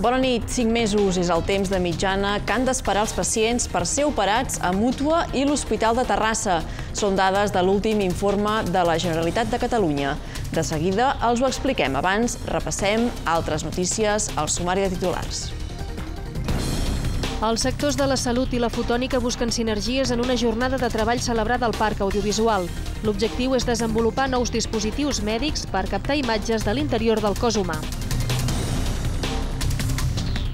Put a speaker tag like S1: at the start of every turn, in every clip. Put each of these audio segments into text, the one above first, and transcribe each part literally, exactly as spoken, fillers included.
S1: Bona nit. Cinc mesos és el temps de mitjana que han d'esperar els pacients per ser operats a Mútua i l'Hospital de Terrassa. Són dades de l'últim informe de la Generalitat de Catalunya. De seguida els ho expliquem. Abans repassem altres notícies al sumari de titulars.
S2: Els sectors de la salut i la fotònica busquen sinergies en una jornada de treball celebrada al Parc Audiovisual. L'objectiu és desenvolupar nous dispositius mèdics per captar imatges de l'interior del cos humà.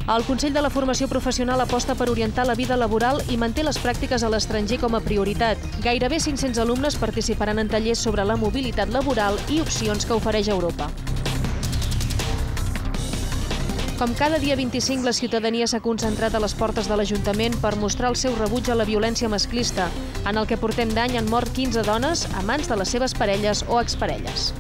S2: El Consell de la Formació Professional aposta per orientar la vida laboral i manté les pràctiques a l'estranger com a prioritat. Gairebé cinc-cents alumnes participaran en tallers sobre la mobilitat laboral i opcions que ofereix Europa. Com cada dia vint-i-cinc, la ciutadania s'ha concentrat a les portes de l'Ajuntament per mostrar el seu rebuig a la violència masclista. En el que portem d'any han mort quinze dones a mans de les seves parelles o exparelles.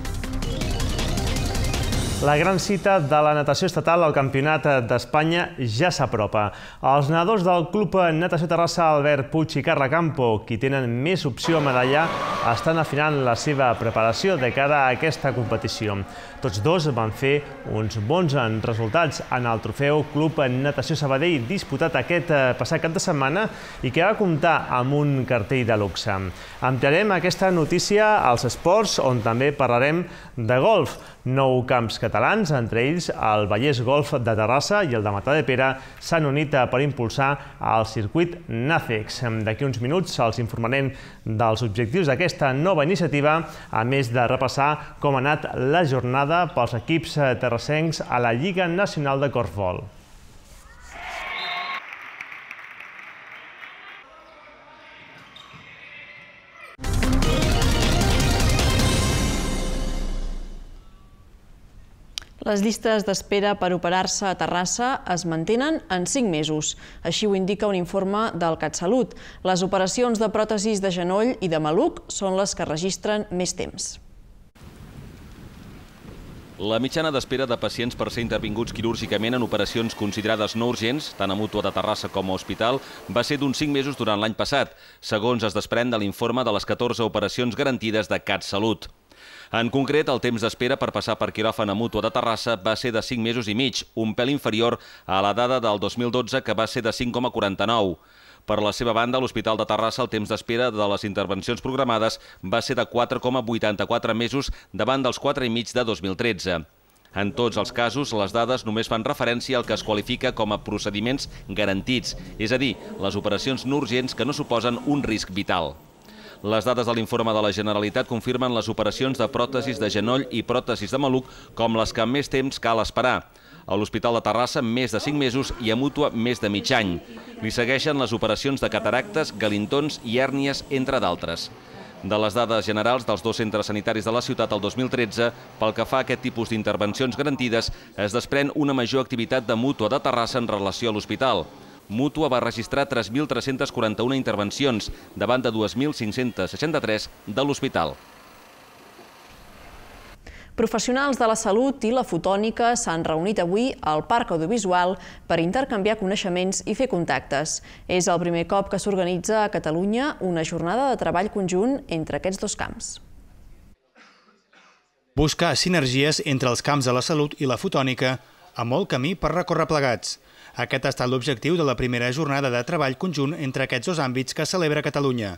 S3: La gran cita de la natació estatal al Campionat d'Espanya ja s'apropa. Els nedadors del Club Natació Terrassa Albert Puig i Carla Campo, qui tenen més opció a medallar, estan afinant la seva preparació de cara a aquesta competició. Tots dos van fer uns bons resultats en el trofeu Club Natació Sabadell disputat aquest passat cap de setmana i que va comptar amb un cartell de luxe. Ampliarem aquesta notícia als esports, on també parlarem de golf. Nou camps catalans, entre ells el Vallès Golf de Terrassa i el de Matadepera, s'han unit per impulsar el circuit NACEX. D'aquí uns minuts els informarem dels objectius d'aquesta nova iniciativa, a més de repassar com ha anat la jornada pels equips terrassencs a la Lliga Nacional de Corfbol.
S1: Les llistes d'espera per operar-se a Terrassa es mantenen en cinc mesos. Així ho indica un informe del CatSalut. Les operacions de pròtesis de genoll i de maluc són les que registren més temps.
S4: La mitjana d'espera de pacients per ser intervinguts quirúrgicament en operacions considerades no urgents, tant a Mútua de Terrassa com a Hospital, va ser d'uns cinc mesos durant l'any passat, segons es desprèn de l'informe de les catorze operacions garantides de CatSalut. En concret, el temps d'espera per passar per quiròfan a Mútua de Terrassa va ser de cinc mesos i mig, un pèl inferior a la dada del dos mil dotze, que va ser de cinc coma quaranta-nou. Per la seva banda, a l'Hospital de Terrassa el temps d'espera de les intervencions programades va ser de quatre coma vuitanta-quatre mesos davant dels quatre i mig de dos mil tretze. En tots els casos, les dades només fan referència al que es qualifica com a procediments garantits, és a dir, les operacions no urgents que no suposen un risc vital. Les dades de l'informe de la Generalitat confirmen les operacions de pròtesis de genoll i pròtesis de maluc com les que més temps cal esperar. A l'Hospital de Terrassa, més de cinc mesos i a Mútua, més de mig any. Li segueixen les operacions de cataractes, galintons i hèrnies, entre d'altres. De les dades generals dels dos centres sanitaris de la ciutat el dos mil tretze, pel que fa a aquest tipus d'intervencions garantides, es desprèn una major activitat de Mútua de Terrassa en relació a l'hospital. Mútua va registrar tres mil tres-centes quaranta-una intervencions, davant de dues mil cinc-centes seixanta-tres de l'hospital.
S1: Professionals de la salut i la fotònica s'han reunit avui al Parc Audiovisual per intercanviar coneixements i fer contactes. És el primer cop que s'organitza a Catalunya una jornada de treball conjunt entre aquests dos camps.
S5: Buscar sinergies entre els camps de la salut i la fotònica, amb molt camí per recórrer plegats. Aquest ha estat l'objectiu de la primera jornada de treball conjunt entre aquests dos àmbits que celebra Catalunya.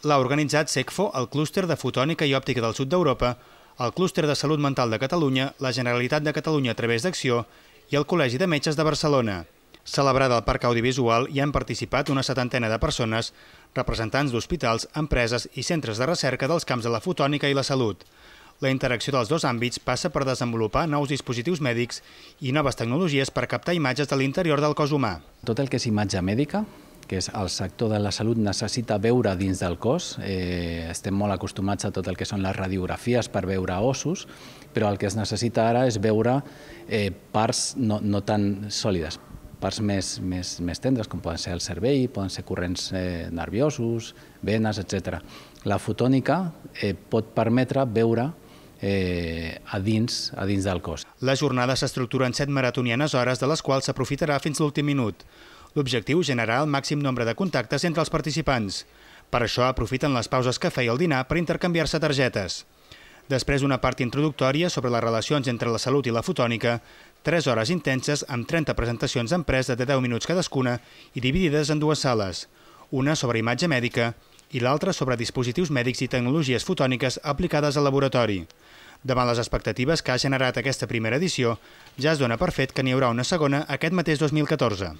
S5: L'ha organitzat SECFO, el Clúster de Fotònica i Òptica del Sud d'Europa, el Clúster de Salut Mental de Catalunya, la Generalitat de Catalunya a través d'Acció i el Col·legi de Metges de Barcelona. Celebrada al Parc Audiovisual hi han participat una setantena de persones, representants d'hospitals, empreses i centres de recerca dels camps de la fotònica i la salut. La interacció dels dos àmbits passa per desenvolupar nous dispositius mèdics i noves tecnologies per captar imatges de l'interior del cos humà.
S6: Tot el que és imatge mèdica, que és el sector de la salut, necessita veure dins del cos. Eh, estem molt acostumats a tot el que són les radiografies per veure ossos, però el que es necessita ara és veure eh, parts no, no tan sòlides, parts més, més, més tendres, com poden ser el cervell, poden ser corrents eh, nerviosos, venes, etcètera. La fotònica eh, pot permetre veure Eh, a, dins, a dins del cos.
S5: La jornada s'estructura en set maratonianes hores, de les quals s'aprofitarà fins l'últim minut. L'objectiu és generar el màxim nombre de contactes entre els participants. Per això aprofiten les pauses cafè i el dinar per intercanviar-se targetes. Després d'una part introductòria sobre les relacions entre la salut i la fotònica, Tres hores intenses amb trenta presentacions d'empresa de deu minuts cadascuna i dividides en dues sales, una sobre imatge mèdica i l'altra sobre dispositius mèdics i tecnologies fotòniques aplicades al laboratori. Davant les expectatives que ha generat aquesta primera edició, ja es dona per fet que n'hi haurà una segona aquest mateix dos mil catorze.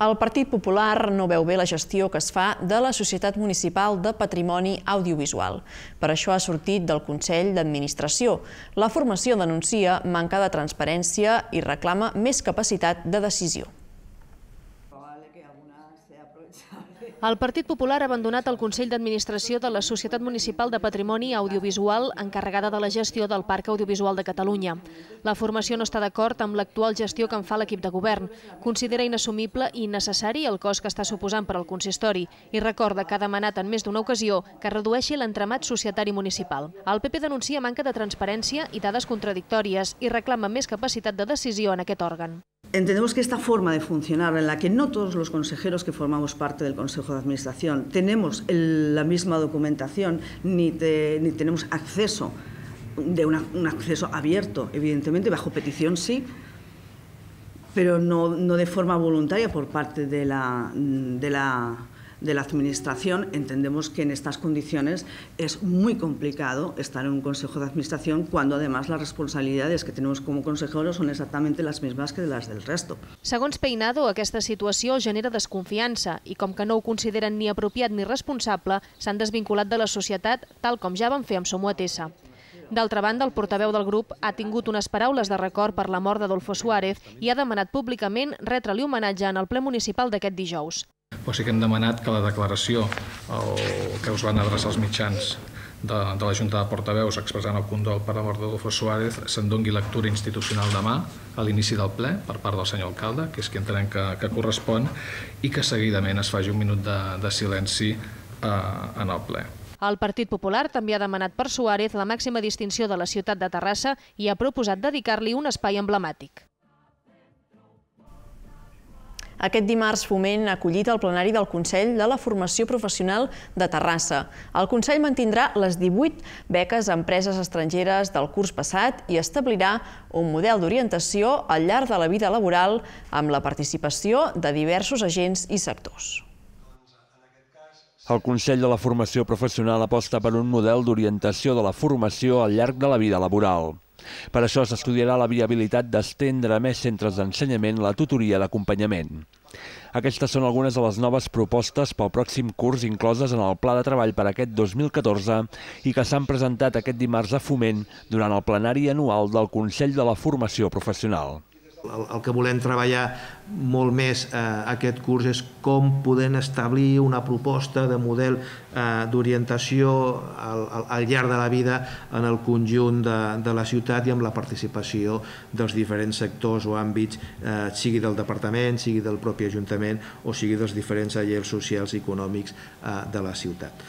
S1: El Partit Popular no veu bé la gestió que es fa de la Societat Municipal de Patrimoni Audiovisual. Per això ha sortit del Consell d'Administració. La formació denuncia manca de transparència i reclama més capacitat de decisió.
S2: El Partit Popular ha abandonat el Consell d'Administració de la Societat Municipal de Patrimoni Audiovisual encarregada de la gestió del Parc Audiovisual de Catalunya. La formació no està d'acord amb l'actual gestió que en fa l'equip de govern. Considera inassumible i innecessari el cost que està suposant per al consistori i recorda que ha demanat en més d'una ocasió que redueixi l'entramat societari municipal. El P P denuncia manca de transparència i dades contradictòries i reclama més capacitat de decisió en aquest òrgan.
S7: Entendemos que esta forma de funcionar, en la que no todos los consejeros que formamos parte del Consejo de Administración tenemos el, la misma documentación ni, te, ni tenemos acceso, de una, un acceso abierto, evidentemente, bajo petición sí, pero no, no de forma voluntaria por parte de la, de la de la Administración, entendemos que en estas condiciones es muy complicado estar en un Consejo de Administración cuando además las responsabilidades que tenemos como consejeros son exactamente las mismas que las del resto.
S2: Segons Peinado, aquesta situació genera desconfiança i com que no ho consideren ni apropiat ni responsable, s'han desvinculat de la societat tal com ja van fer amb Somoatesa. D'altra banda, el portaveu del grup ha tingut unes paraules de record per la mort d'Adolfo Suárez i ha demanat públicament retre-li homenatge en el ple municipal d'aquest dijous.
S8: Però sí que hem demanat que la declaració que us van adreçar els mitjans de, de la Junta de Portaveus expressant el condol per la mort d'Adolfo Suárez se'n doni lectura institucional demà a l'inici del ple per part del senyor alcalde, que és qui entenem que, que correspon, i que seguidament es faci un minut de, de silenci eh, en el ple.
S2: El Partit Popular també ha demanat per Suárez la màxima distinció de la ciutat de Terrassa i ha proposat dedicar-li un espai emblemàtic.
S1: Aquest dimarts Foment ha acollit el plenari del Consell de la Formació Professional de Terrassa. El Consell mantindrà les divuit beques a empreses estrangeres del curs passat i establirà un model d'orientació al llarg de la vida laboral amb la participació de diversos agents i sectors.
S9: El Consell de la Formació Professional aposta per un model d'orientació de la formació al llarg de la vida laboral. Per això s'estudiarà la viabilitat d'estendre a més centres d'ensenyament la tutoria d'acompanyament. Aquestes són algunes de les noves propostes pel pròxim curs incloses en el Pla de Treball per aquest dos mil catorze i que s'han presentat aquest dimarts a Foment durant el plenari anual del Consell de la Formació Professional.
S10: El que volem treballar molt més eh, aquest curs és com podem establir una proposta de model eh, d'orientació al, al llarg de la vida en el conjunt de, de la ciutat i amb la participació dels diferents sectors o àmbits, eh, sigui del departament, sigui del propi ajuntament o sigui dels diferents agents socials i econòmics eh, de la ciutat.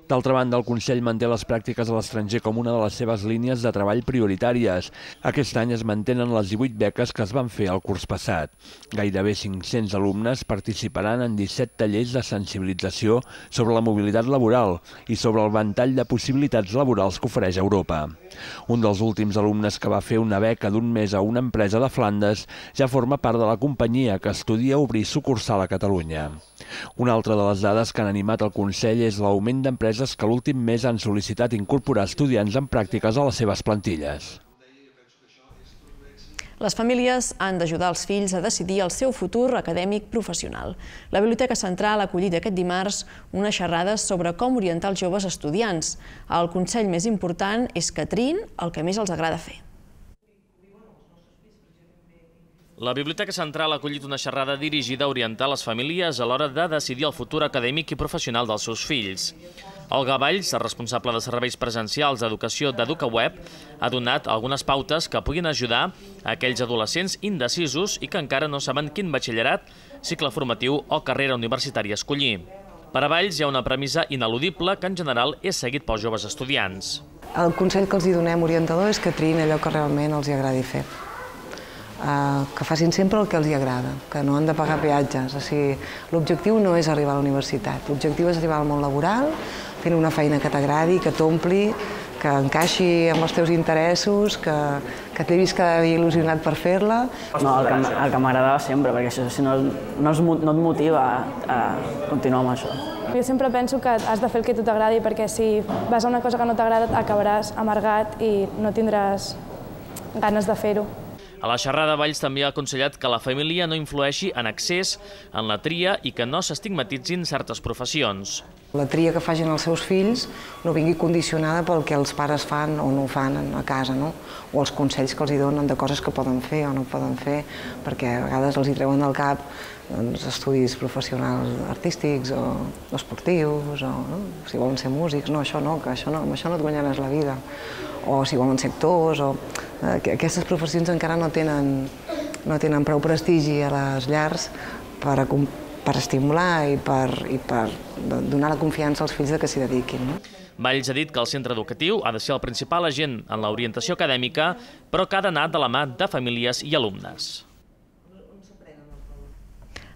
S9: D'altra banda, el Consell manté les pràctiques a l'estranger com una de les seves línies de treball prioritàries. Aquest any es mantenen les divuit beques que es van fer el curs passat. Gairebé cinc-cents alumnes participaran en disset tallers de sensibilització sobre la mobilitat laboral i sobre el ventall de possibilitats laborals que ofereix Europa. Un dels últims alumnes que va fer una beca d'un mes a una empresa de Flandes ja forma part de la companyia que estudia obrir sucursal a Catalunya. Una altra de les dades que han animat el Consell és l'augment d'empreses que l'últim mes han sol·licitat incorporar estudiants en pràctiques a les seves plantilles.
S1: Les famílies han d'ajudar els fills a decidir el seu futur acadèmic professional. La Biblioteca Central ha acollit aquest dimarts unes xerrades sobre com orientar els joves estudiants. El consell més important és que triïn el que més els agrada fer.
S11: La Biblioteca Central ha acollit una xerrada dirigida a orientar les famílies a l'hora de decidir el futur acadèmic i professional dels seus fills. Olga Valls, responsable de serveis presencials d'educació d'EducaWeb, ha donat algunes pautes que puguin ajudar a aquells adolescents indecisos i que encara no saben quin batxillerat, cicle formatiu o carrera universitària escollir. Per a Valls hi ha una premissa ineludible que en general és seguit pels joves estudiants.
S12: El consell que els donem orientador és que triïn allò que realment els agradi fer. Que facin sempre el que els agrada, que no han de pagar peatges. L'objectiu no és arribar a la universitat, l'objectiu és arribar al món laboral, fent una feina que t'agradi, que t'ompli que encaixi amb els teus interessos, que, que t'he vist cada dia il·lusionat per fer-la.
S13: No, el que, el que m'agradava sempre, perquè això si no, no, es, no et motiva a, a continuar amb això.
S14: Jo sempre penso que has de fer el que a tu t'agradi, perquè si vas a una cosa que no t'agrada acabaràs amargat i no tindràs ganes de fer-ho.
S11: A la xerrada, Valls també ha aconsellat que la família no influeixi en excés en la tria i que no s'estigmatitzin certes professions.
S12: La tria que facin els seus fills no vingui condicionada pel que els pares fan o no fan a casa, no? O els consells que els hi donen de coses que poden fer o no poden fer, perquè a vegades els hi treuen del cap doncs, estudis professionals artístics o esportius, o no? Si volen ser músics, no, això no, que això no, amb això no et guanyaràs la vida. O si volen ser actors, o eh, aquestes professions encara no tenen, no tenen prou prestigi a les llars per, a, per estimular i per, i per donar la confiança als fills de que s'hi dediquin. No?
S11: Valls ha dit que el centre educatiu ha de ser el principal agent en l'orientació acadèmica, però que ha d'anar de la mà de famílies i alumnes.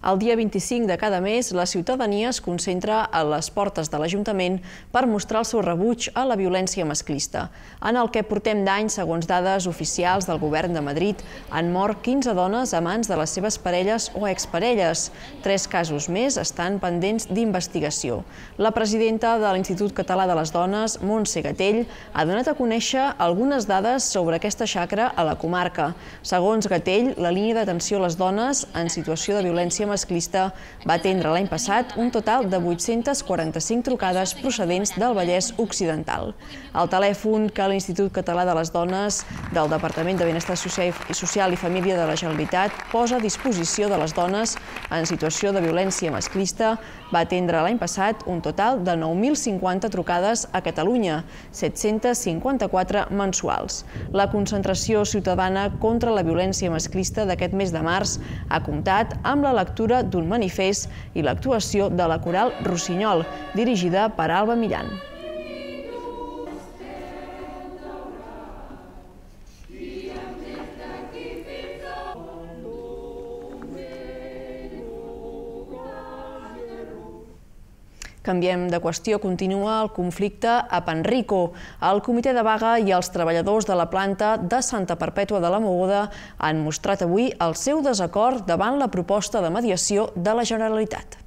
S1: El dia vint-i-cinc de cada mes, la ciutadania es concentra a les portes de l'Ajuntament per mostrar el seu rebuig a la violència masclista. En el que portem d'any, segons dades oficials del Govern de Madrid, han mort quinze dones a mans de les seves parelles o exparelles. Tres casos més estan pendents d'investigació. La presidenta de l'Institut Català de les Dones, Montse Gatell, ha donat a conèixer algunes dades sobre aquesta xacra a la comarca. Segons Gatell, la línia d'atenció a les dones en situació de violència masclista va atendre l'any passat un total de vuit-centes quaranta-cinc trucades procedents del Vallès Occidental. El telèfon que l'Institut Català de les Dones del Departament de Benestar Social i Família de la Generalitat posa a disposició de les dones en situació de violència masclista va atendre l'any passat un total de nou mil cinquanta trucades a Catalunya, set-centes cinquanta-quatre mensuals. La concentració ciutadana contra la violència masclista d'aquest mes de març ha comptat amb la lectura d'un manifest i l'actuació de la coral Rossinyol, dirigida per Alba Millan. Canviem de qüestió, continua el conflicte a Panrico. El comitè de vaga i els treballadors de la planta de Santa Perpètua de la Mogoda han mostrat avui el seu desacord davant la proposta de mediació de la Generalitat.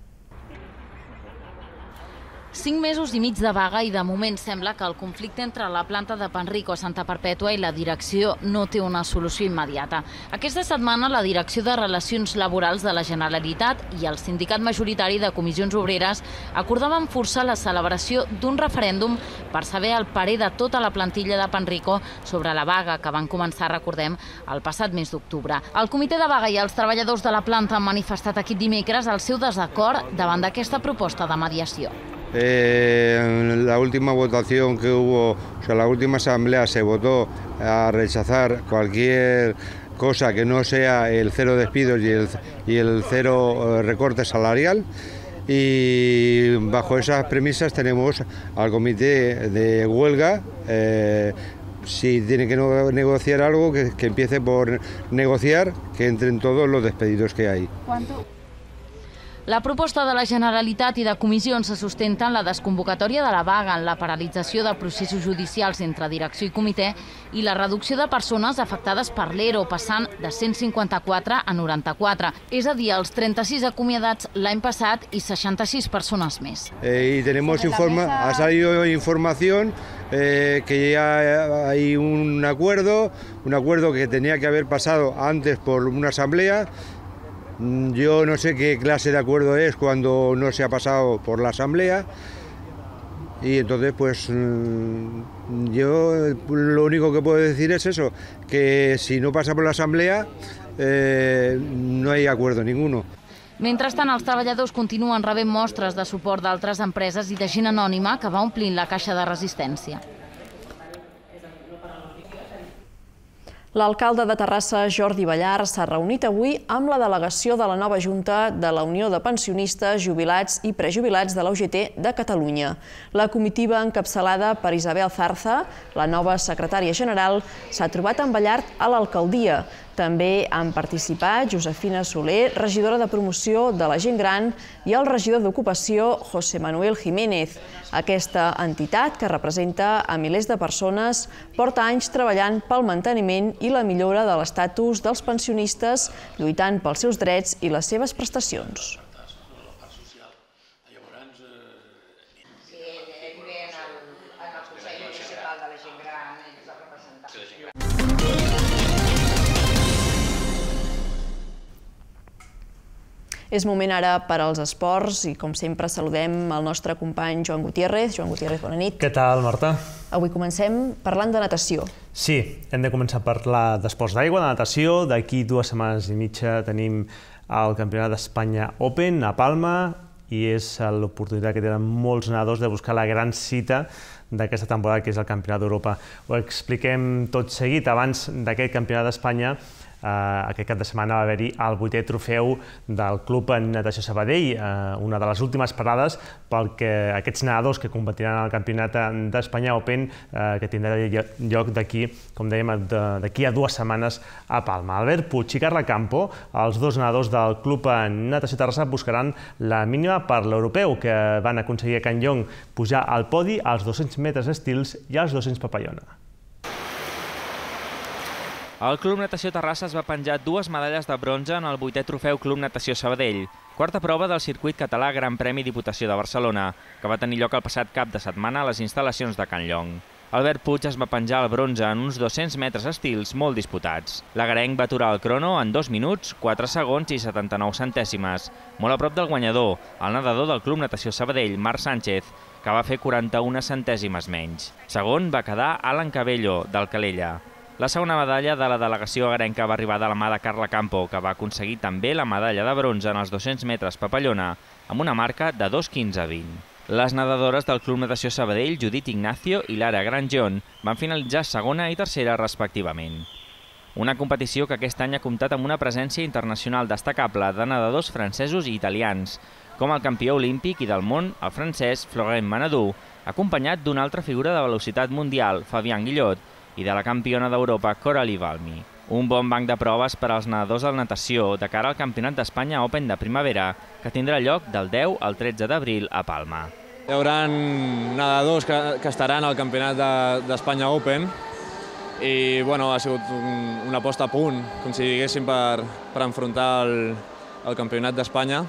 S15: Cinc mesos i mig de vaga i de moment sembla que el conflicte entre la planta de Panrico a Santa Perpètua i la direcció no té una solució immediata. Aquesta setmana la Direcció de Relacions Laborals de la Generalitat i el sindicat majoritari de comissions obreres acordaven forçar la celebració d'un referèndum per saber el parer de tota la plantilla de Panrico sobre la vaga que van començar, recordem, el passat mes d'octubre. El comitè de vaga i els treballadors de la planta han manifestat aquest dimecres el seu desacord davant d'aquesta proposta de mediació.
S16: Eh, en la última votación que hubo, o sea, la última asamblea se votó a rechazar cualquier cosa que no sea el cero despidos y el, y el cero recorte salarial, y bajo esas premisas tenemos al comité de huelga. Eh, si tiene que negociar algo, que, que empiece por negociar, que entren todos los despedidos que hay.
S15: ¿Cuánto? La proposta de la Generalitat i de comissions se sustenta en la desconvocatòria de la vaga, en la paralització de processos judicials entre direcció i comitè i la reducció de persones afectades per l'E R O, passant de cent cinquanta-quatre a noranta-quatre, és a dir, els trenta-sis acomiadats l'any passat i seixanta-sis persones més.
S16: Eh, y tenemos informa ha salido información eh, que ya hay un acuerdo, un acuerdo que tenía que haber pasado antes por una asamblea. Yo no sé qué clase de acuerdo es cuando no se ha pasado por la asamblea, y entonces pues yo lo único que puedo decir es eso, que si no pasa por la asamblea eh, no hay acuerdo ninguno.
S15: Mentrestant, els treballadors continuen rebent mostres de suport d'altres empreses i de gent anònima que va omplint la caixa de resistència.
S1: L'alcalde de Terrassa, Jordi Ballar, s'ha reunit avui amb la delegació de la nova Junta de la Unió de Pensionistes, Jubilats i Prejubilats de la U G T de Catalunya. La comitiva, encapçalada per Isabel Zarza, la nova secretària general, s'ha trobat amb Ballar a l'alcaldia. També han participat Josefina Soler, regidora de promoció de la gent gran, i el regidor d'Ocupació, José Manuel Jiménez. Aquesta entitat, que representa a milers de persones, porta anys treballant pel manteniment i la millora de l'estatus dels pensionistes, lluitant pels seus drets i les seves prestacions. És moment ara per als esports i, com sempre, saludem el nostre company Joan Gutiérrez. Joan Gutiérrez, bona nit.
S3: Què tal, Marta?
S1: Avui comencem parlant de natació.
S3: Sí, hem de començar a parlar d'esports d'aigua, de natació. D'aquí dues setmanes i mitja tenim el Campionat d'Espanya Open a Palma i és l'oportunitat que tenen molts nedadors de buscar la gran cita d'aquesta temporada, que és el Campionat d'Europa. Ho expliquem tot seguit. Abans d'aquest Campionat d'Espanya, aquest cap de setmana va haver-hi el vuitè trofeu del Club Natació Sabadell, una de les últimes parades perquè aquests nedadors que competiran al Campionat d'Espanya Open, que tindrà lloc d'aquí, com dèiem, d'aquí a dues setmanes a Palma. Albert Puig i Carla Campo, els dos nedadors del Club Natació Terrassa, buscaran la mínima per l'europeu, que van aconseguir a Can Llong pujar al podi als dos-cents metres estils i als dos-cents papallona.
S17: El Club Natació Terrassa es va penjar dues medalles de bronze en el vuitè trofeu Club Natació Sabadell, quarta prova del circuit català Gran Premi Diputació de Barcelona, que va tenir lloc el passat cap de setmana a les instal·lacions de Can Llong. Albert Puig es va penjar el bronze en uns dos-cents metres estils molt disputats. L'agarenc va aturar el crono en dos minuts, quatre segons i setanta-nou centèsimes, molt a prop del guanyador, el nedador del Club Natació Sabadell, Marc Sánchez, que va fer quaranta-una centèsimes menys. Segon va quedar Alan Cabello, del Calella. La segona medalla de la delegació agarenca va arribar de la mà de Carla Campo, que va aconseguir també la medalla de bronze en els dos-cents metres papallona, amb una marca de dos quinze vint. Les nedadores del Club Natació Sabadell, Judit Ignacio i Lara Granjon, van finalitzar segona i tercera respectivament. Una competició que aquest any ha comptat amb una presència internacional destacable de nedadors francesos i italians, com el campió olímpic i del món, el francès Florent Manadou, acompanyat d'una altra figura de velocitat mundial, Fabián Guillot, i de la campiona d'Europa, Coralie Valmy. Un bon banc de proves per als nedadors de la natació de cara al Campionat d'Espanya Open de primavera, que tindrà lloc del deu al tretze d'abril a Palma.
S18: Hi haurà nedadors que, que estaran al Campionat d'Espanya Open i bueno, ha sigut un, una posta a punt, com si diguéssim, per, per enfrontar el, el Campionat d'Espanya.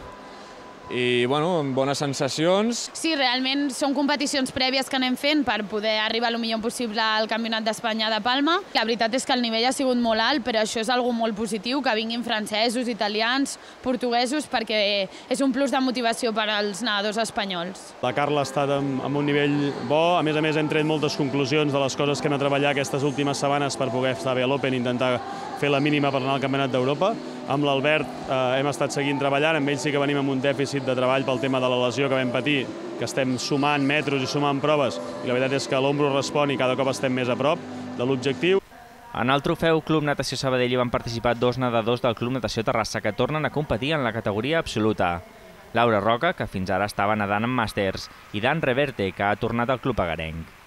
S18: I, bueno, bones sensacions.
S19: Sí, realment són competicions prèvies que anem fent per poder arribar el millor possible al Campionat d'Espanya de Palma. La veritat és que el nivell ha sigut molt alt, però això és algo molt positiu, que vinguin francesos, italians, portuguesos, perquè és un plus de motivació per als nedadors espanyols.
S20: La Carla ha estat amb un nivell bo, a més a més hem tret moltes conclusions de les coses que hem de treballar aquestes últimes setmanes per poder estar bé a l'Open i intentar fer la mínima per anar al Campionat d'Europa. Amb l'Albert eh, hem estat seguint treballant, amb ell sí que venim amb un dèficit de treball pel tema de la lesió que vam patir, que estem sumant metros i sumant proves, i la veritat és que l'ombro respon i cada cop estem més a prop de l'objectiu.
S17: En el trofeu Club Natació Sabadell hi van participar dos nedadors del Club Natació Terrassa que tornen a competir en la categoria absoluta. Laura Roca, que fins ara estava nedant en màsters, i Dan Reverte, que ha tornat al club agarenc.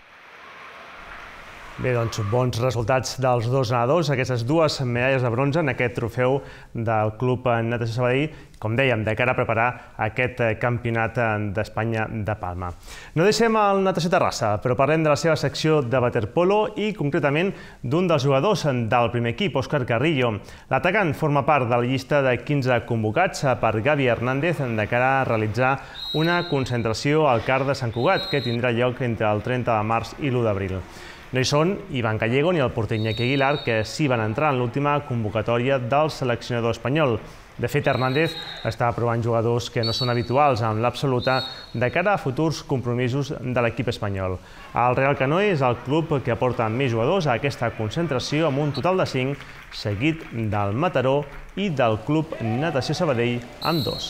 S3: Bé, doncs, bons resultats dels dos nedadors, aquestes dues medalles de bronze en aquest trofeu del Club Natació Sabadell, com dèiem, de cara a preparar aquest Campionat d'Espanya de Palma. No deixem el Natació Terrassa, però parlem de la seva secció de waterpolo i concretament d'un dels jugadors del primer equip, Òscar Carrillo. L'atacant forma part de la llista de quinze convocats per Gavi Hernández de cara a realitzar una concentració al C A R de Sant Cugat, que tindrà lloc entre el trenta de març i l'u d'abril. No hi són Ivan Gallego ni el porter Iñaki Aguilar, que sí van entrar en l'última convocatòria del seleccionador espanyol. De fet, Hernández està provant jugadors que no són habituals en l'absoluta de cara a futurs compromisos de l'equip espanyol. El Real Canoe és el club que aporta més jugadors a aquesta concentració amb un total de cinc, seguit del Mataró i del Club Natació Sabadell amb dos.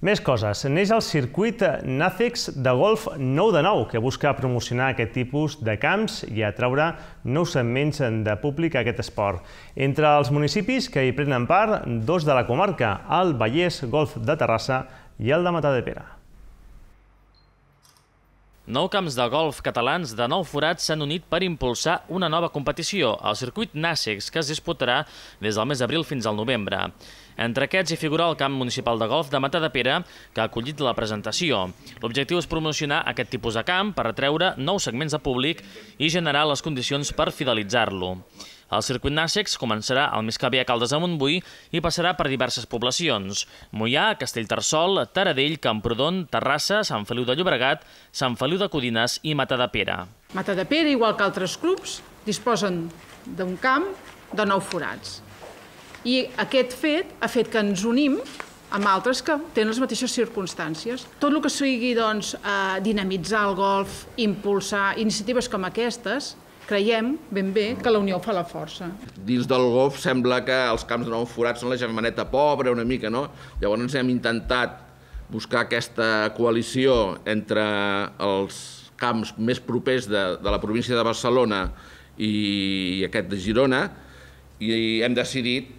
S3: Més coses. Neix el circuit Nacex de golf nou de nou, que busca promocionar aquest tipus de camps i atraure nous segments de públic a aquest esport. Entre els municipis que hi prenen part, dos de la comarca, el Vallès Golf de Terrassa i el de Matadepera.
S11: Nou camps de golf catalans de nou forats s'han unit per impulsar una nova competició, el circuit Nàssecs, que es disputarà des del mes d'abril fins al novembre. Entre aquests hi figura el camp municipal de golf de Matadepera, que ha acollit la presentació. L'objectiu és promocionar aquest tipus de camp per atreure nous segments de públic i generar les condicions per fidelitzar-lo. El circuit Nàssecs començarà al més que bé a Caldes de Montbui i passarà per diverses poblacions: Moià, Castellterçol, Taradell, Camprodon, Terrassa, Sant Feliu de Llobregat, Sant Feliu de Codines i Matadepera.
S21: Matadepera, igual que altres clubs, disposen d'un camp de nou forats. I aquest fet ha fet que ens unim amb altres que tenen les mateixes circumstàncies. Tot el que sigui doncs, dinamitzar el golf, impulsar iniciatives com aquestes, creiem ben bé que la unió fa la força.
S22: Dins del golf sembla que els camps de nou forats són la germaneta pobra una mica, no? Llavors hem intentat buscar aquesta coalició entre els camps més propers de, de la província de Barcelona i aquest de Girona, i hem decidit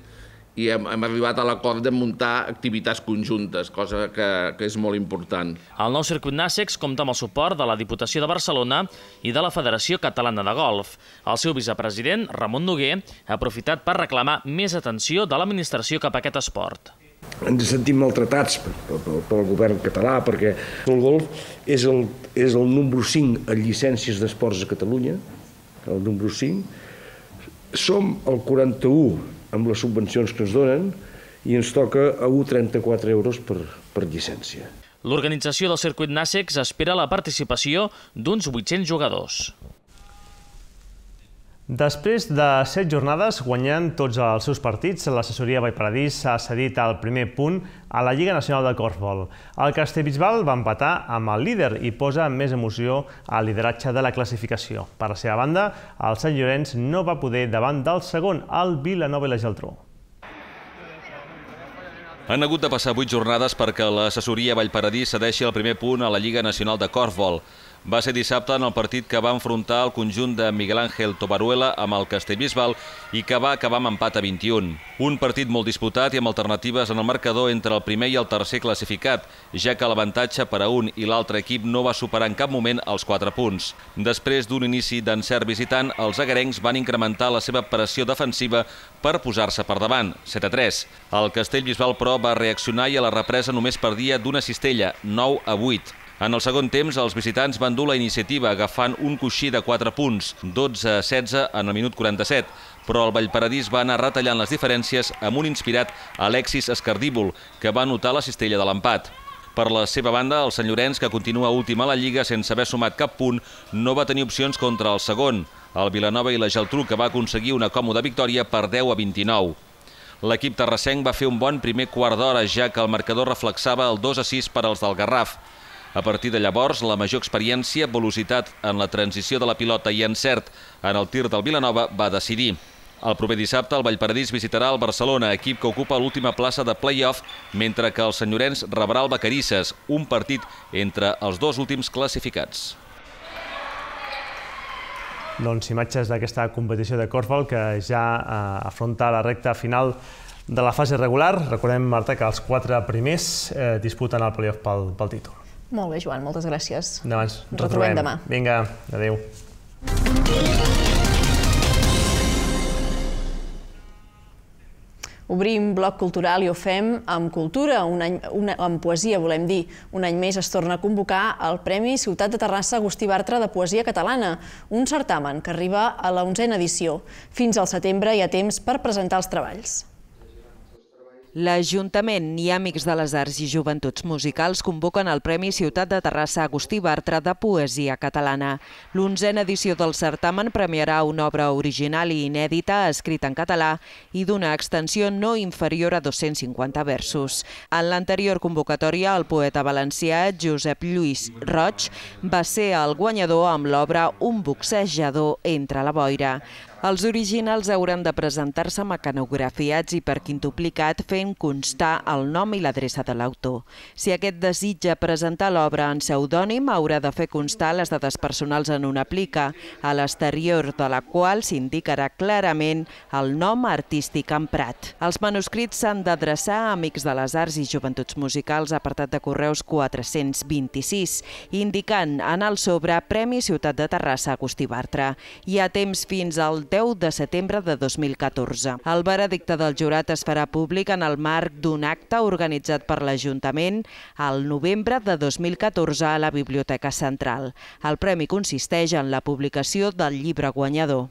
S22: i hem, hem arribat a l'acord de muntar activitats conjuntes, cosa que, que és molt important.
S11: El nou circuit Nàssecs compta amb el suport de la Diputació de Barcelona i de la Federació Catalana de Golf. El seu vicepresident, Ramon Noguer, ha aprofitat per reclamar més atenció de l'administració cap a aquest esport.
S23: Ens sentim maltratats pel govern català perquè el golf és el, és el número cinc en llicències d'esports a Catalunya, el número cinc. Som el quaranta-u amb les subvencions que ens donen i ens toca a un coma trenta-quatre euros per, per llicència.
S11: L'organització del circuit Nàssecs espera la participació d'uns vuit-cents jugadors.
S3: Després de set jornades guanyant tots els seus partits, l'assessoria Vallparadís ha cedit el primer punt a la Lliga Nacional de Corfbol. El Castellbisbal va empatar amb el líder i posa més emoció al lideratge de la classificació. Per la seva banda, el Sant Llorenç no va poder davant del segon, el Vilanova i la Geltrú.
S4: Han hagut de passar vuit jornades perquè l'assessoria Vallparadís cedeixi el primer punt a la Lliga Nacional de Corfbol. Va ser dissabte en el partit que va enfrontar el conjunt de Miguel Ángel Tobaruela amb el Castellbisbal i que va acabar amb empat a vint-i-un. Un partit molt disputat i amb alternatives en el marcador entre el primer i el tercer classificat, ja que l'avantatge per a un i l'altre equip no va superar en cap moment els quatre punts. Després d'un inici d'encert visitant, els agarencs van incrementar la seva pressió defensiva per posar-se per davant, set a tres. El Castellbisbal, però, va reaccionar i a la represa només perdia d'una cistella, nou a vuit. En el segon temps, els visitants van dur la iniciativa agafant un coixí de quatre punts, dotze a setze en el minut quaranta-set, però el Vallparadís va anar retallant les diferències amb un inspirat Alexis Escardíbol, que va anotar la cistella de l'empat. Per la seva banda, el Sant Llorenç, que continua últim a la Lliga sense haver sumat cap punt, no va tenir opcions contra el segon, el Vilanova i la Geltrú, que va aconseguir una còmoda victòria per deu a vint-i-nou. L'equip terrassenc va fer un bon primer quart d'hora, ja que el marcador reflexava el dos a sis per als del Garraf. A partir de llavors, la major experiència, velocitat en la transició de la pilota i encert en el tir del Vilanova va decidir. El proper dissabte, el Vallparadís visitarà el Barcelona, equip que ocupa l'última plaça de play-off, mentre que el Sant Llorenç rebrà el Vacarisses, un partit entre els dos últims classificats.
S3: Doncs imatges d'aquesta competició de corfbol que ja afronta la recta final de la fase regular. Recordem, Marta, que els quatre primers disputen el play-off pel títol.
S1: Molt bé, Joan, moltes gràcies.
S3: Demà ens
S1: retrobem demà.
S3: Vinga, adéu.
S1: Obrim bloc cultural i ho fem amb cultura, amb poesia, volem dir. Un any més es torna a convocar el Premi Ciutat de Terrassa Agustí Bartra de Poesia Catalana, un certamen que arriba a la onzena edició. Fins al setembre hi ha temps per presentar els treballs.
S24: L'Ajuntament i Amics de les Arts i Joventuts Musicals convoquen el Premi Ciutat de Terrassa Agustí Bartra de Poesia Catalana. L'onzena edició del certamen premiarà una obra original i inèdita escrita en català i d'una extensió no inferior a dos-cents cinquanta versos. En l'anterior convocatòria, el poeta valencià Josep Lluís Roig va ser el guanyador amb l'obra Un boxejador entre la boira. Els originals hauran de presentar-se mecanografiats i per quintuplicat fent constar el nom i l'adreça de l'autor. Si aquest desitja presentar l'obra en pseudònim, haurà de fer constar les dades personals en una plica, a l'exterior de la qual s'indicarà clarament el nom artístic emprat. Els manuscrits s'han d'adreçar a Amics de les Arts i Joventuts Musicals, apartat de correus quatre-cents vint-i-sis, indicant en el sobre Premi Ciutat de Terrassa Agustí Bartra. Hi ha temps fins al deu de setembre de dos mil catorze. El veredicte del jurat es farà públic en el marc d'un acte organitzat per l'Ajuntament al novembre de dos mil catorze a la Biblioteca Central. El premi consisteix en la publicació del llibre guanyador.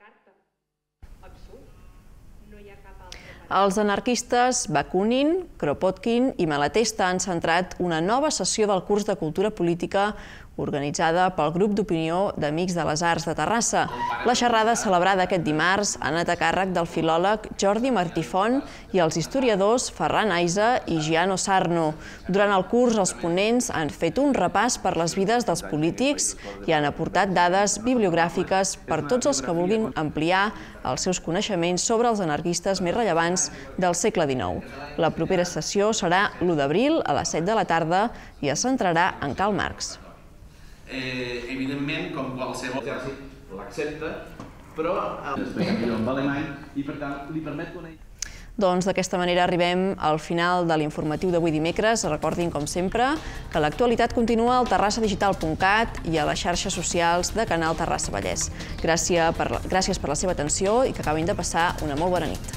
S1: Els anarquistes Bakunin, Kropotkin i Malatesta han centrat una nova sessió del curs de Cultura Política organitzada pel grup d'opinió d'Amics de les Arts de Terrassa. La xerrada celebrada aquest dimarts ha anat a càrrec del filòleg Jordi Martí Font i els historiadors Ferran Aisa i Giano Sarno. Durant el curs, els ponents han fet un repàs per les vides dels polítics i han aportat dades bibliogràfiques per tots els que vulguin ampliar els seus coneixements sobre els anarquistes més rellevants del segle dinou. La propera sessió serà l'u d'abril a les set de la tarda i es centrarà en Karl Marx.
S5: Evidentment, com qualsevol exèrcit, l'accepta, però explica millor en alemany i, per tant, li permet conèixer.
S1: Doncs d'aquesta manera arribem al final de l'informatiu d'avui dimecres. Recordin, com sempre, que l'actualitat continua al terrassa digital punt cat i a les xarxes socials de Canal Terrassa Vallès. Gràcies per la seva atenció i que acabin de passar una molt bona nit.